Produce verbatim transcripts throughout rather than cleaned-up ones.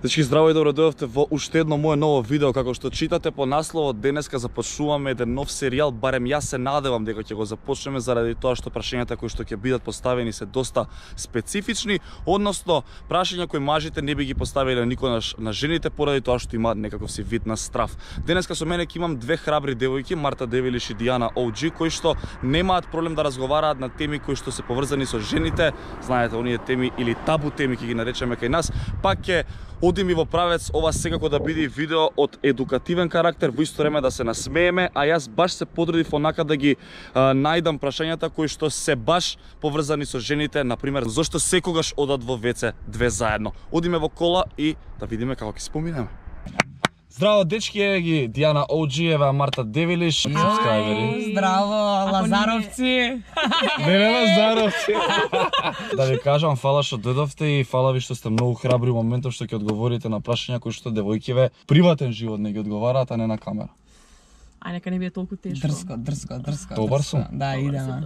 Дечки, здраво и добро дојдовте во уште едно мое ново видео. Како што читате по насловот, денеска започнуваме еден нов серијал, барем јас се надевам дека ќе го започнеме заради тоа што прашањата кои што ќе бидат поставени се доста специфични, односно прашања кои мажите не би ги поставиле никогаш на жените поради тоа што имаат некаков си вид на страв. Денеска со мене ќе имам две храбри девојки, Марта Девилиш и Дијана О Џи, кои што немаат проблем да разговараат на теми кои што се поврзани со жените. Знаете, оние теми или табу теми ќе ги наречеме кај нас, пак ќе одим и во правец ова секако да биде видео од едукативен карактер, во исто време да се насмееме, а јас баш се потрудив онака да ги а, најдам прашањата кои што се баш поврзани со жените, например, зошто секогаш одат во веце две заедно. Одиме во кола и да видиме како ќе споминеме. Здраво, дечки, е ги Дијана О Џи, ева Марта Девилиш, сабскрајбери. Здраво, Лазаровци. Не, не, Лазаровци. Да ви кажам, фала што дојдовте и фала ви што сте многу храбри во моментов што ќе одговорите на прашања кои што девојкиве приватен живот не ги одговараат, а не на камера. Ај, нека не биде толку тешко. Дрско, дрско, дрско. Добар сум? Да, идеме.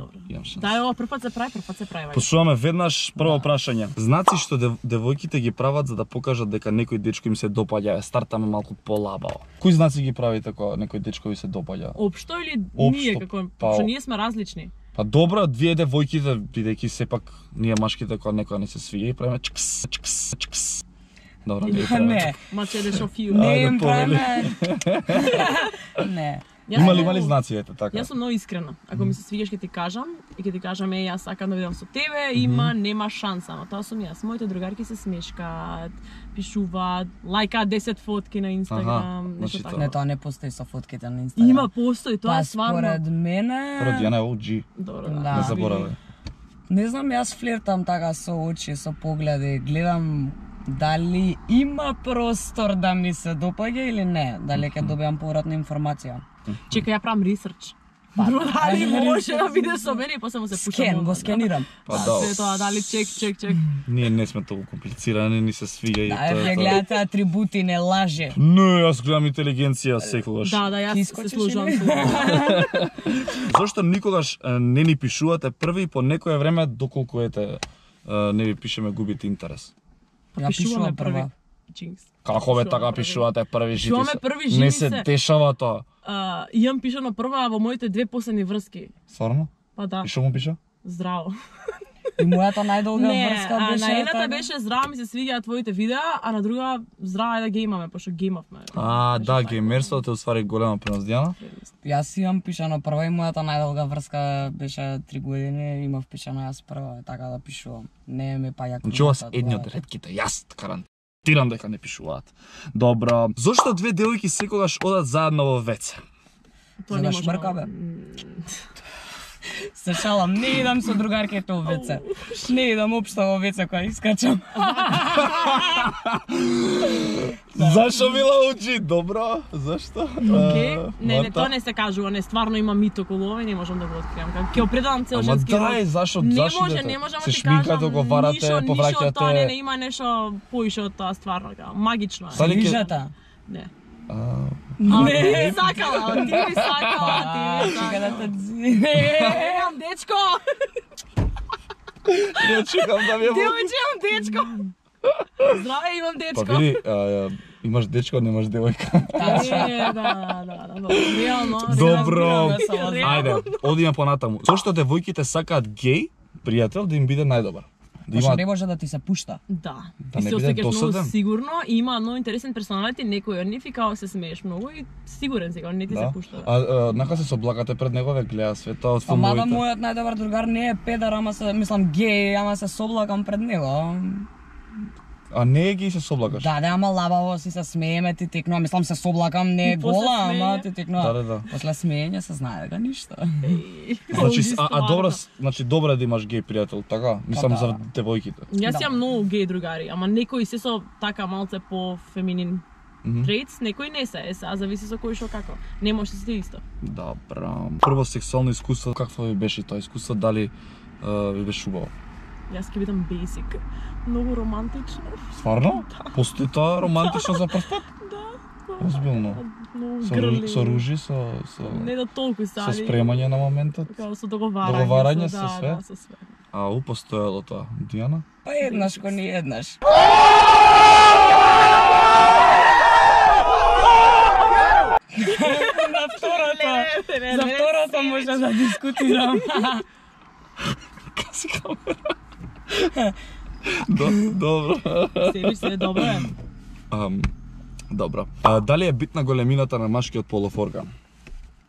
Да, ова прв пат се прави, прв пат се прави. Послушаме веднаш прво прашање. Знаци што дев, девојките ги прават за да покажат дека некој дечко им се допаѓа, стартаме малку полабаво. Кои знаци ги правите кога некој дечко ви се допаѓа? Општо или Општо, ние како па, што ние сме различни? Па добро, вие девојките, бидејќи сепак ние машките кога некоја не се свиѓа и правиме чкс, чкс, чкс. Добро, не треба. Не, Маче да шофиу. не Ајде, им повели. правиме. Не. Има ли, има ли знаци, ете така? Јас сум многу искрена. Ако ми се свигаш ќе ти кажам и ќе ти кажам е јас сакам да видам со тебе, има нема шанса, но тоа сум јас. Моите другарки се смешкаат, пишуваат, лајкаат десет фотки на Инстаграм, нешто значи така. Не, тоа не постои со фотките на Инстаграм. Има, постои, тоа Па е стварно. според мене... Прво Дијана О Џи, Добро, Да. не заборавај. Не знам, јас флиртам така со очи, со погледи, гледам дали има простор да ми се допаѓа или не, дали ќе добиам повратна информација. Чекај, ја правам ресерч. Па, Друго, дали ајде, може да биде со мене и после му се пушам. Скен, го скенирам. Па да, Се тоа, дали чек, чек, чек. ние не сме толку комплицирани, ни се свиѓа и Да, тоа ја е тоа. гледате атрибути, не лаже. Не, јас гледам интелигенција секогаш. Да, да, јас Ти се искочиш служам или? со. Зошто никогаш е, не ни пишувате први и по некое време доколку ете е, не ви пишеме губите интерес? Ја пишувам прва. Джинкс. Како бе Пишуваме така први. пишувате први жити? Пишуваме се? први, Не жени се се. дешава тоа. А, имам пишано прва во моите две последни врски. Стварно? Па да, И што му пиша? здраво. И мојата најдолга Не, врска а, беше... на едната така. беше здраво ми се свиѓаат твоите видеа, а на друга здраво е да геймаме, пошто геймавме. А, Беше да, така. геймерството е уствари голема принос, Дијана. Јас имам пишано прва и мојата најдолга врска беше три години, имав пишано јас прва, така да пишувам. Не ми па јако. Значи ова се едни од ретките, јас гарантирам дека не пишуваат. Добро, зошто две девојки секогаш одат заедно во веце? Тоа За не да може. шмрка, бе. Се шалам, не идам со другарките во веце. Не идам општо во веце кога искачам. Зашо Мила учи? Добро, зашто? Океј, А, не, не, Марта? тоа не се кажува, не, стварно има мит околу ова и не можам да го откриам. Како ќе определам цел Ама женски дај, род. зашо, Не зашо може, идете? не можам Се да ти шминкате, кажам. договарате, ништо, Ништо од тоа, не, не повраќате. има нешто поише од тоа, стварно, така, магично е. Дали ќе- Грижата. Не. А, А, ти ми сакала, ти ми сакала, ти ми Чека да сакала. те дзи. Не, имам дечко! не чекам да ми е во... Девојче, имам дечко! Здраве, имам Па дечко! види, а, имаш дечко, немаш девојка. Не, да, да, да, да, реално. Добро, реално, реално. ајде, одиме понатаму. Зошто девојките сакаат геј пријател да им биде најдобар? Да Пошто имаат не може да ти се пушта. Да, Да и не се биде осеќаш многу досаден. сигурно и има многу интересен персоналити, некој од нив и као се смееш многу и сигурен сега, не ти се да. пушта. А, а нака се соблакате пред него, ве гледа света од Па мада филмовите. мојот најдобар другар не е педар, ама се, мислам, геј, ама се соблакам пред него. А не е ги се соблакаш. Да, да, ама лабаво си се смееме, ти текнува, мислам се соблакам, не е И после гола, смеење. ама ти текнува. Да, да, да. После смеење се знае дека ништо. Значи, а, а добро, значи добро е да имаш геј пријател, така? Мислам да. за девојките. Јас Да. имам многу геј другари, ама некои се со така малце по феминин трейтс, некои не се, е, а зависи со кој што како. Не може да се исто. Добро. Прво сексуално искуство, какво ви беше тоа искуство, дали е, ви беше убаво? Јас ќе бидам basic. Многу романтично. Стварно? Постои тоа романтично за прв пат? Да. Озбилно. Многу Со, грли. ру- со ружи, со, со, Не да толку со сали. спремање на моментот. Као со договарање. Договарање со, со да, све? Да, со све. А у постоело тоа. Дијана? Па еднаш ко ни еднаш. На второто. За второто може да дискутирам. Каси камера. Добро. Себе се добро е. Ам, добро. А, дали е битна големината на машкиот полов орган?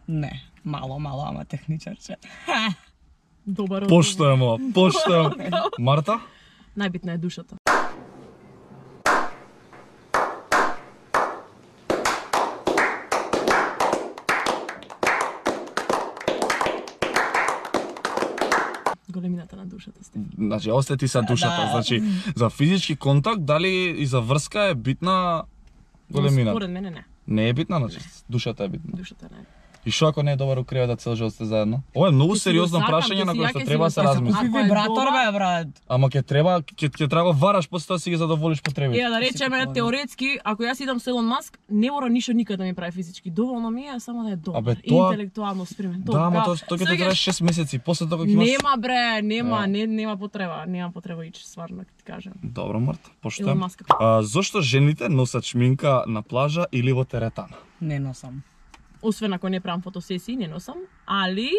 Не, мало, мало, ама техничарче. Добар. Поштоемо, поштоемо. Марта? Најбитна е душата. Големината на душата сте. Значи, остати са душата. Да. Значи, за физички контакт, дали и за врска е битна големината? Според мене не. Не е битна, значи, душата е битна. Душата не е. И што ако не е добар у креветот цел живот сте заедно? Ова е многу Ќе си сериозно го сакам, прашање ќе на си кое ја, што ќе си треба го да се сакам. размисли. Купи Ако е вибратор, добар- бе, брат. Ама ќе треба, ќе ќе треба вараш после тоа си ги задоволиш потребите. Е, да речеме Си теоретски, ако јас идам со Елон Маск, не мора ништо никад да ми прави физички. Доволно ми е само да е добар. Абе, тоа- Интелектуално спремен. Да, ама тоа тоа ќе те трае шест месеци, после тоа кога ќе имаш. Нема бре, нема, Да. не, нема потреба, нема потреба ич, стварно ќе ти кажам. Добро, Март, Елон поштоем. Маск. А, зошто жените носат шминка на плажа или во теретана? Не носам. Освен ако не правам фотосесии, не носам, али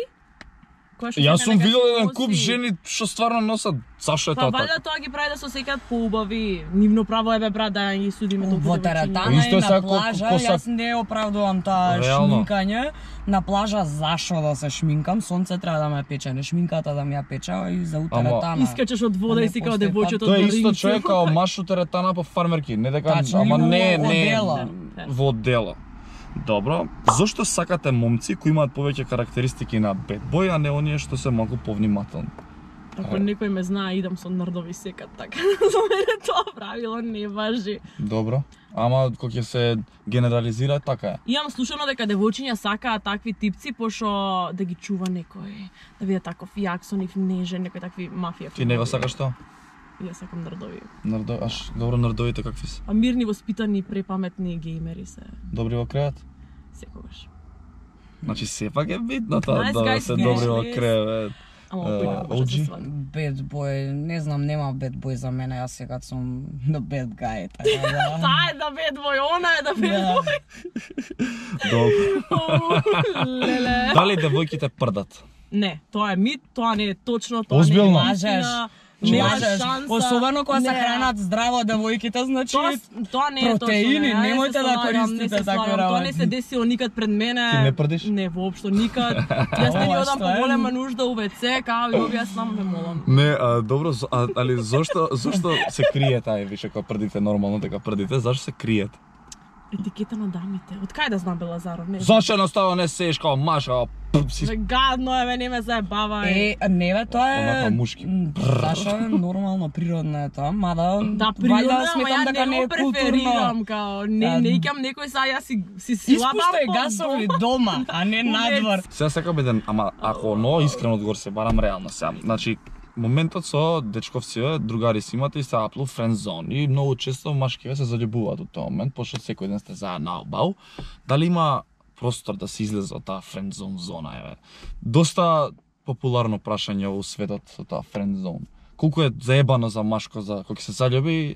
која што Јас се сум нека видел си еден носи- куп жени што стварно носат. Зашо е Па тоа валјда така? тоа ги прави да се осеќаат поубави. Нивно право е бе брат да ги судиме толку Во девојчиња. теретана Исто и е на сега ко- плажа, ко са- јас не оправдувам таа Реално. шминкање. На плажа зашо да се шминкам? Сонце треба да ме пече, не шминката да ми ја пече и за утеретана. Искачеш од вода А и не си као постои девојчето Тоа е од исто Ринци. човек као маш у теретана по фармерки, не дека, Тачно, ама или не, во не, одела. во одела. Добро. Зошто сакате момци кои имаат повеќе карактеристики на бед бој, а не оние што се малку повнимателни? Ако некој ме знае, идам со нрдови секат, така. За мене тоа правило не важи. Добро. Ама кога ќе се генерализира, така е. Имам слушано дека девојчиња сакаат такви типци, пошто да ги чува некој, да биде таков јак со нив нежен, некој такви мафија. Ти не го сакаш тоа? Јас сакам нрдови. Нардо, аш, добро, нардовите какви се? А мирни, воспитани, препаметни геймери се Добри во кревет? секогаш. Значи сепак е битно тоа Nice да guys, се yes, добри во yes. кревет. Ама Е, опet може да се о џи? свади. Bad boy, не знам, нема bad boy за мене, јас сега сум the bad guy, така да. Таа е да бед бој, она е да бед Да. бој. Добро. Леле. Дали девојките прдат? Не, тоа е мит, тоа не е точно, тоа Озбилно? не е Лажеш. вистина. Нема Лажеш. шанса. Особено кога се Не. хранат здраво девојките, значи Тоа, тоа не е протеини, точно. не, немојте се да слагам, користите не се такви слагам. Тоа не работи. се десило никад пред мене. Ти не прдиш? Не, воопшто никад. Јас не Ова одам што по е? голема нужда у вце, као и објаснам, ме молам. Не, а, добро, зо- а, али зошто, зошто се крие тај више кога прдите нормално дека прдите, зашто се криете? Етикета на дамите. Од кај да знам Бе Лазаров? Не. Зашто едноставно не сееш као маш, као пп, си Бе, гадно е, бе, не ме заебавај. Е, не бе, тоа е... Онака мушки. М, Зашо е нормално, природно е тоа, мада... Да, вајда природно, ама сметам ја дека не не е го преферирам, као, не, Да. не икам некој са, јас си, си силабам Испуштај по гасови дома. дома, а не надвор. Сега сакам еден, ама ако но искрено одговор се барам реално сега. Значи, моментот со дечковци, другари си имате и се аплу френд зон и многу често машкиве се заљубуваат од тој момент, пошто секој ден сте заедно албау. Дали има простор да се излезе од таа френд зон зона еве? Доста популарно прашање во светот со таа френд зон. Колку е заебано за машко за кога ќе се заљуби?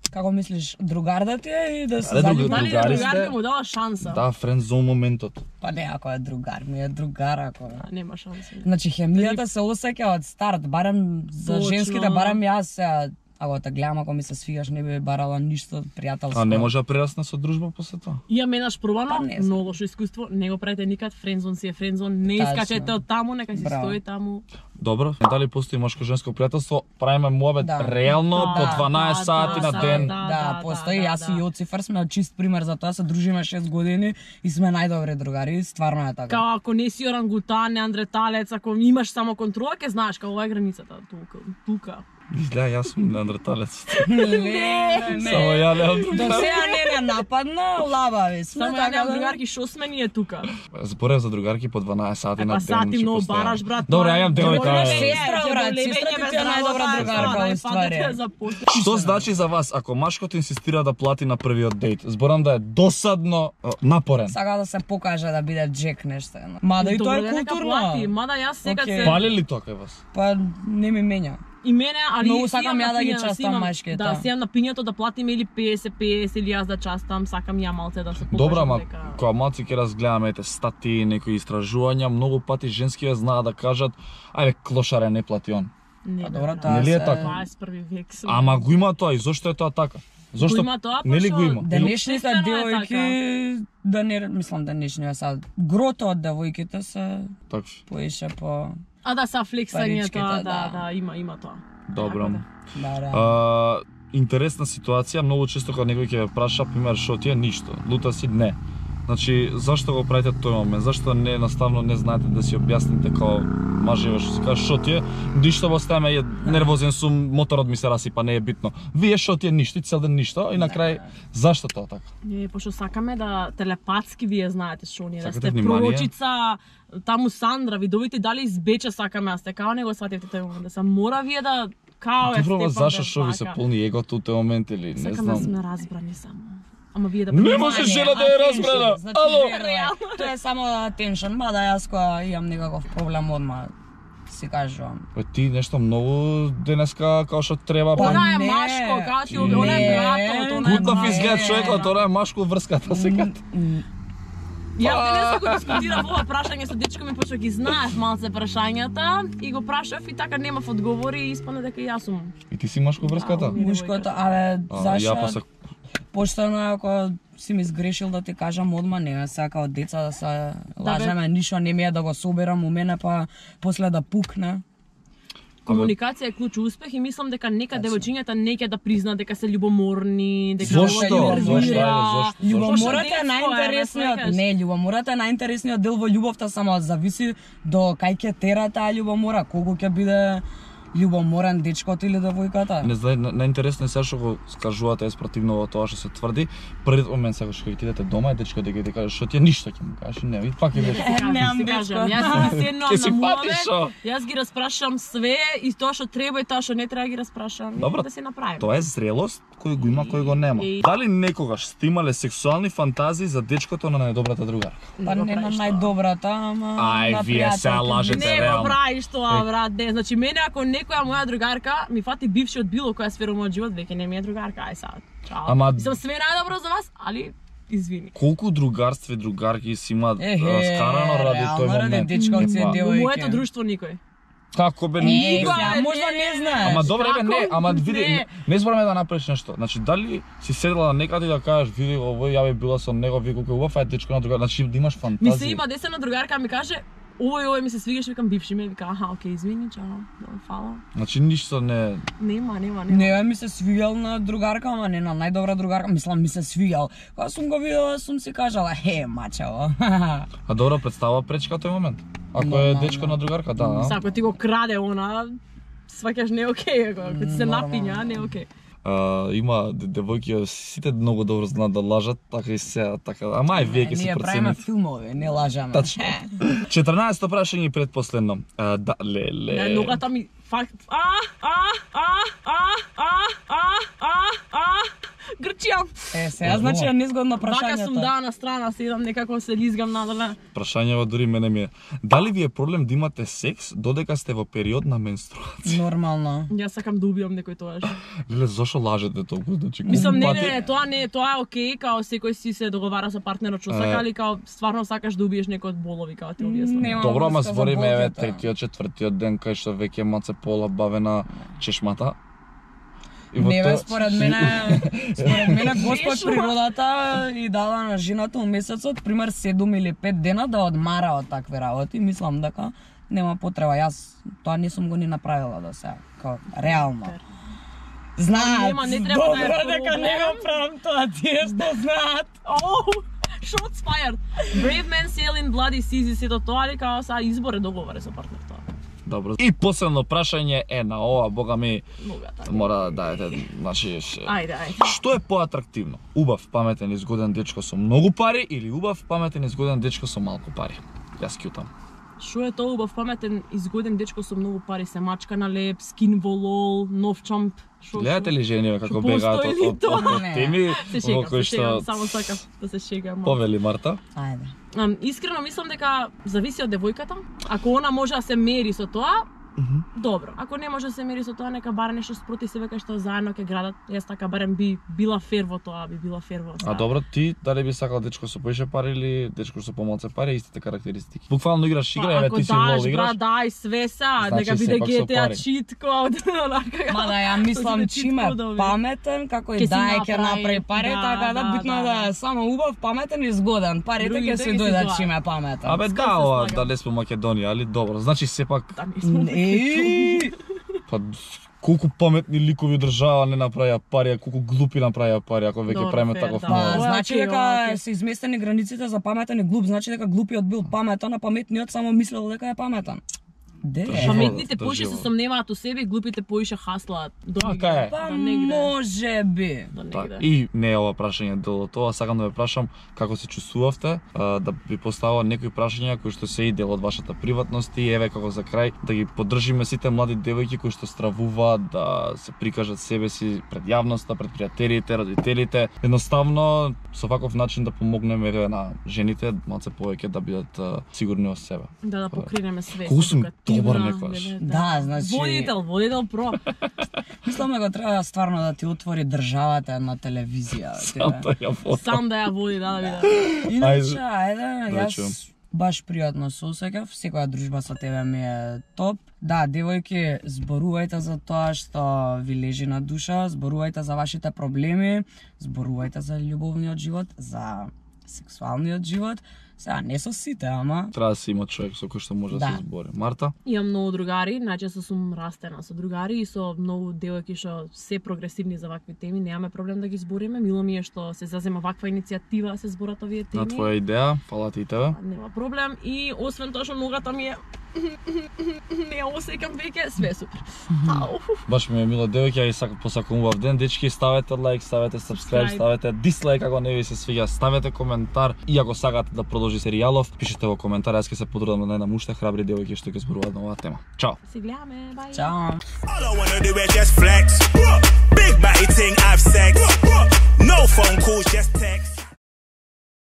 Како мислиш, другар да ти е и да се Аре, друг- заљуби? Дали другари другарка сте? му дава шанса? Да, френд зон моментот. Па не, ако е другар, ми е другар, ако е. А, нема шанса. Значи, хемијата се осеќа од старт, барем за Точно. женските, барем јас се, ако те гледам, ако ми се свигаш, не би барала ништо пријателско. А не може да прерасне со дружба после тоа? Имам еднаш пробано, Па не знам. многу лошо искуство, не го правите никад, френдзон си е френдзон, не Тачно. искачете од таму, нека си Браво. стои таму. Добро, дали постои машко-женско пријателство? Правиме муабет Да. реално Да, по дванаесет да, сати да, на да, ден. да. Да, постои, да, јас да. и Јоцифер сме чист пример за тоа, се дружиме шест години и сме најдобри другари, стварно е така. Као ако не си орангутан, неандреталец, ако имаш само контрола, ќе знаеш као ова е границата, тука, тука. Изгледа, јас сум неандерталец. Не, не, Само не. ја немам До друга. сега не не нападна, лабави сме, Само ја така немам да... другарки, шо сме ние тука? Зборев за другарки по дванаесет сати Е, на па ден. сати што многу постојано. бараш, брат. Добре, тоа е ја имам девојка, добро е. Сестра, лебење, брат, лебење сестра ти без ти е најдобра работа, другарка, да, у да, ствари. падате за после. Што значи за вас ако машкото инсистира да плати на првиот дејт? Зборам да е досадно е, напорен. Сака да се покаже да биде джек нешто едно. Мада и тоа Добро, е да, нека плати, културно. мада јас секад Океј. се... Пали ли тоа кај вас? Па не ми менја. И мене, али Многу сакам ја да ги пињата, частам имам- мачките. Да, си имам на пињето да платиме или песет песет или јас да частам, сакам ја малце да се покажам Добра, ама дека... кога малци ќе разгледаме ете статии, некои истражувања, многу пати женскиве знаат да кажат, ајде клошаре не плати он. Не, Па бе, добро, брат. тоа Нели е се- така? дваесет и први век сум. Ама го има тоа и зошто е тоа така? Зошто има тоа, нели пошто го има? Денешните Естествено е девојки, да не, мислам денешни сад, грото од девојките се Така. поише по... А да, са флексањето, Паричките, да, да. да, има, има тоа. Добро. Така Да, да. А, интересна ситуација, многу често кога некој ќе ве праша, пример, шо ти е ништо, лута си, не. Значи, зашто го правите тој момент? Зашто не едноставно не знаете да си објасните како мажеве што се каже шо ти е? Ништо во стеме е нервозен сум, моторот ми се расипа, не е битно. Вие шо ти е ништо, и цел ден ништо и на крај зашто тоа така? Не, пошто сакаме да телепатски вие знаете што ние, да Сакате сте внимание? пророчица, таму Сандра, видовите дали избече сакаме, а сте као не го свативте тој момент, да се мора вие да као е Добро, Стефан зашто да шо ви се плака. полни егото у тој момент или не Сакам да знам. сме разбрани само. Ама вие да Не приемате. може жена да е разбрана. Значи, Ало. верно е. Тоа е само attention, мада јас кога имам некаков проблем одма си кажувам. Бе, ти нешто многу денеска како што треба. Па, па- Она е не. машко, као ти Не. она е братот, она е Гутнав брат. изглед Не, човекот, да. тоа е машко врската сега. Јас денеска го дискутирав ова прашање со дечко ми, пошто ги знаев малце прашањата и го прашав и така немав одговори и испадна дека и јас сум. И ти си машко врската? Да, Мушкото, абе, А, ја зашо? па се Поштено е ако си ми сгрешил да ти кажам одма, не ме сака од деца да се лажеме, ништо не ми е да го соберам у мене, па после да пукне. Комуникација е клуч успех и мислам дека нека девојчињата не ќе да признаат дека се љубоморни, дека Зошто? го Зошто? нервира. Ајде, зошто? Љубомората Пошто е детско е, најинтересниот, не сваќаш? не, љубомората е најинтересниот дел во љубовта, само зависи до кај ќе тера таа љубомора, колку ќе биде љубоморен дечкото или девојката. Не знае, на- најинтересно е сега што го скажувате е спротивно во тоа што се тврди. Првиот момент сега што ќе идете дома е дечко дека ќе ти каже што ти е ништо ќе му кажеш, не, и пак ќе кажеш. Кажам, Немам ти дечко. кажам, јас си седнувам Ке си на патиш, муавет, шо? јас ги распрашам све и тоа што треба и тоа што не треба ги распрашам Добро, и да се направи. Тоа е зрелост кој го има, кој го нема. И- Дали некогаш сте имале сексуални фантазии за дечкото на најдобрата другарка? Па го не на правиш тоа. најдобрата, ама Ај, на вие сега пријателки. лажете. Не реално. го правиш тоа, брат, не. Значи, мене ако некоја моја другарка ми фати бивши од било која сфера од мојот живот, веќе не ми е другарка, ај сад. Чао. Ама- Мислам, све најдобро за вас, али извини. Колку другарства и другарки си имаат Ехе, раскарано ради реално, тој ради момент? дечковци и Епа, девојки. Во Ојке. моето друштво никој. Како бе? Е, никога? сега, можда не знаеш. Ама добре бе, не, Како? ама види, Не. не, не збораме да направиш нешто. Значи, дали си седела некаде и да кажеш, види овој, ја би била со него, ви колку е убав, е дечко на друга, значи да имаш Ми фантазија. се има десена другарка ми каже, овој овој ми се свигаш, викам бивши ми, вика, аха, окей, извини, чао, добро, фала. Значи ништо не. Нема, нема, нема. Не, ми се свиѓал на другарка, ама не на најдобра другарка, мислам ми се свиѓал. Кога сум го видела, сум си кажала, е, мачево. А добро представа пречка тој момент. Ако е Нормално. дечко на другарка, да. а? Са, ако ти го краде она, сваќаш не е окей, ако ако ти се Нормално. напиња, не е окей. А, има де- девојки, сите многу добро знаат да лажат, така и се, така. Ама ај вие ќе се Ние правиме процените. филмови, не лажеме. Тачно. четрнаесетто прашање и предпоследно. А, да, леле. Не, ногата ми факт. А, а, а, а, а, а, а, а, грчијам. Е, сега значи е незгодно Вака сум прашањето. да на страна, седам некако се лизгам надоле. Прашањево дури мене ми е. Дали ви е проблем да имате секс додека сте во период на менструација? Нормално. Јас сакам да убијам некој тоаш. Леле, зошо лажете толку? Значи, Мислам, не, пати- не, не, тоа не, тоа е окей, као секој си се договара со партнерот што сака, Е. али као стварно сакаш да убиеш некој од болови, као ти објаснам. Нема Добро, ама врска за збориме еве болката. третиот, четвртиот ден кај што веќе маце пола бавена чешмата. И во Не, бе, тоа- според мене, според мене Господ Чешма. природата и дала на жената у месецот, пример седум или пет дена да одмара од такви работи. Мислам дека нема потреба. Јас тоа не сум го ни направила до сега, као реално. Знаат, Нема, не треба да е добро дека не го проблем. правам тоа, тие што знаат. Oh, shots fired. Brave men sail in bloody seas и сето тоа, али као са избор е договор е со партнер тоа. Добро. И последно прашање е на ова, бога ми, Могата. мора да даете, значи, ш- Ајде, ајде. што е поатрактивно? Убав, паметен и згоден дечко со многу пари или убав, паметен и згоден дечко со малку пари? Јас кјутам. Шо е тоа убав, паметен, изгоден дечко со многу пари, се мачка на леп, скин во лол, нов чамп. Шо, Гледате шо? ли жениве како Што бегаат постои од, ли од, тоа? од, од Не. теми Се во шегам, кои се шегам, што само сакам да се шегам. повели Марта? Ајде. Ам, искрено мислам дека зависи од девојката. Ако она може да се мери со тоа, Добро, ако не може да се мири со тоа, нека барем нешто спроти себе кај што заедно ќе градат. Јас така барем би била фер во тоа, би била фер во тоа. А добро, ти дали би сакал дечко со поише пари или дечко со помалце пари, истите карактеристики? Буквално играш игра, еве ти си лол играш. Ако даш, брат, дај све са, Значи, нека биде сепак со Джи Ти Ей пари. cheat code, онака. Ма да ја мислам чиме паметен, како и да ќе направи пари, така да битно е да е само убав, паметен и згоден. Парите ќе Другите се ги си дојдат тоа. чиме паметен. Абе Скоро да, се ова слагам. дали сме Македонија, али добро. Значи сепак Да, ми сме Еј, па колку паметни ликови држава не направија пари, а колку глупи направија пари, ако веќе Добро, правиме фер, таков да. па мал. Ова е значи окей, дека ова е окей. се изместени границите за паметен и глуп, значи дека глупиот бил паметен, а паметниот само мислел дека е паметен. Де? Живот. Паметните да, поише се живот. сомневаат у себе, глупите поише хаслаат до Така негде. е. Па До негде. може би. До Так, негде. и не е ова прашање дел од тоа, сакам да ве прашам како се чувствувавте, а, да ви поставам некои прашања кои што се и дел од вашата приватност и еве како за крај да ги поддржиме сите млади девојки кои што стравуваат да се прикажат себе си пред јавноста, пред пријателите, родителите. Едноставно со ваков начин да помогнеме еве на жените малце повеќе да бидат а, сигурни во себе. Да, да покринеме све. Колку сум едукативна, добар некогаш. да, Да, значи- Водител, водител про. Мислам дека треба стварно да ти отвори државата на телевизија. Сам да ја фотам. Сам да ја води, да, да биде. Иначе, ајде, Да чуам. јас баш пријатно се осеќав, секоја дружба со тебе ми е топ. Да, девојки, зборувајте за тоа што ви лежи на душа, зборувајте за вашите проблеми, зборувајте за љубовниот живот, за сексуалниот живот. Сега не со сите, ама Треба да се има човек со кој што може да, Да. се збори. Марта? Имам многу другари, најчесто сум растена со другари и со многу девојки што се прогресивни за вакви теми, немаме проблем да ги збориме. Мило ми е што се зазема ваква иницијатива да се зборат овие теми. На твоја идеја, фала ти и тебе. Нема проблем и освен тоа што ногата ми е не ја осеќам веќе, све е супер. Ау. Баш ми е мило девојки, ја и сакам посакам убав ден. Дечки, ставете лайк, ставете subscribe, Subscribe. ставете дислайк ако не ви се свиѓа, ставете коментар и ако сакате да продолжи серијалов, пишете во коментар, јас ќе се потрудам да најдам уште храбри девојки што ќе зборуваат на оваа тема. Чао. Се гледаме, бај. чао. All I wanna do is just flex. Big